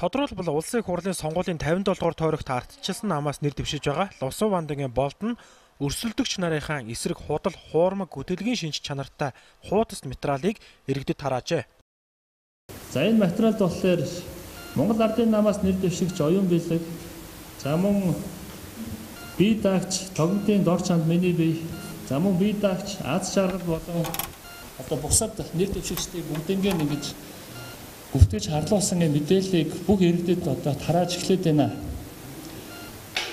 Тодорхойлбол улсын их хурлын сонгуулийн 57 дугаар тойрогт ардчилсан намаас нэр дэвшиж байгаа Лувсан Вандагийн Болд нь өрсөлдөгч нарынхаа эсрэг худал хуурмаг гүтэлгийн шинж чанартай хуудас материалыг иргэдэд тараажээ. За энэ материалд болохоор Монгол Ардын намаас нэр дэвшигч оюун бэлэг, за мөн бие даагч тогтмолын дор чанд миний бие, за мөн бие даагч аз жаргал болон одоо бусад нэр дэвшигчдийг бүгднийг ингэж гүвтгэж харлуулсан мэдээллийг бүх иргэдэд одоо тарааж эхлэв байна.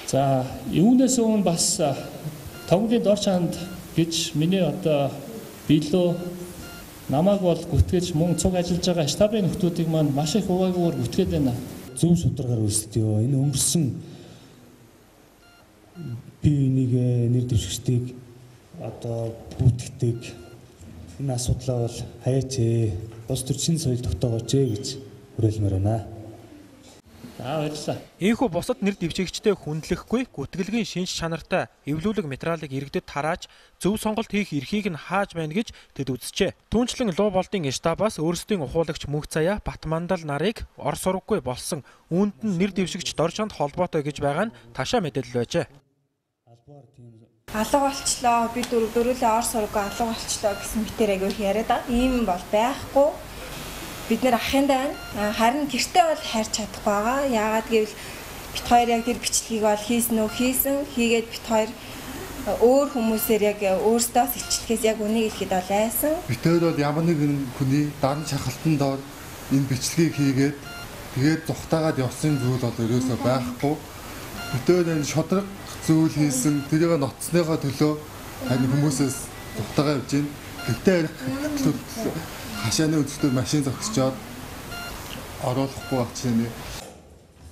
За юунаас өмнө бас тогтмолын дор чанд гэж миний одоо билүү намайг бол гүтгэж мөн цуг ажиллаж байгаа штабын нөхдүүдийг маань маш их хуваагүйгээр гүтгээд байна. Зөв шударгаар өрсөлдөё. Энэ өнгөрсөн бие биенийг нэр дэвшигчдийг одоо гүтгэдэг энэ асуудлаа бол хаяач бус төрчин соёл тогтоогооч гэж хүрээлмээр байна. Баярлалаа. Ийхүү бусад нэр дэвшигчтэй хүндлэхгүй гүтгэлгийн шинж чанартай эвлүүлэг материалыг иргэдэд тарааж зөв сонголт хийх эрхийг нь хааж байна гэж тэд үзжээ. Түүнчлэн Луу болдын штабаас өөрсдийн ухуулагч Мөнх Заяа Батмандал нарыг ор сургаггүй болсон үүнд нь нэр дэвшигч Доржонд холбоотой гэж байгаа нь ташаа мэдээлэл байжээ. Алга болчлоо, би дөрүлээ ор сургаггүй алга болчлоо гэсэн мэтэр агиух яриад байгаа. Ийм бол байхгүй. Бид нэр ахын даа харин гэртээ бол хайрч чадах байгаа. Яагаад гэвэл бит хоёр яг тэр бичлэгийг бол хийгээд бит хоёр өөр хүмүүсээр яг өөрсдөө илчлэхээс яг үнийг хэлэхэд бол айсан. Бит хоёр бол ямар нэгэн хүний дан шахалтан доор энэ бичлэгийг хийгээд тэгээд зүхтаагаад явсан зүйл бол ерөөсөө байхгүй. Бит хоёр энэ шодрог зүйл хийсэн тэрийг ноцсныхоо төлөө харин хүмүүсээс зүхтаагаа явж гин. Гэтэ хашааны үзэгдэл машин зогсчоод оруулахгүй багчаа.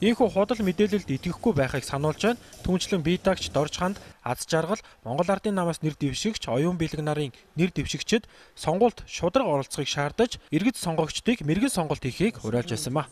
Ийхүү худал мэдээлэлд итгэхгүй байхыг сануулж байна. Түүнчлэн бие даагч Доржханд аз жаргал Монгол Ардын намаас нэр дэвшигч оюун бэлэг нарын нэр дэвшигчид сонгуульд шударга оролцохыг шаардаж иргэд сонгогчдыг мэрэгэн сонголт хийхийг уриалж байсан ба.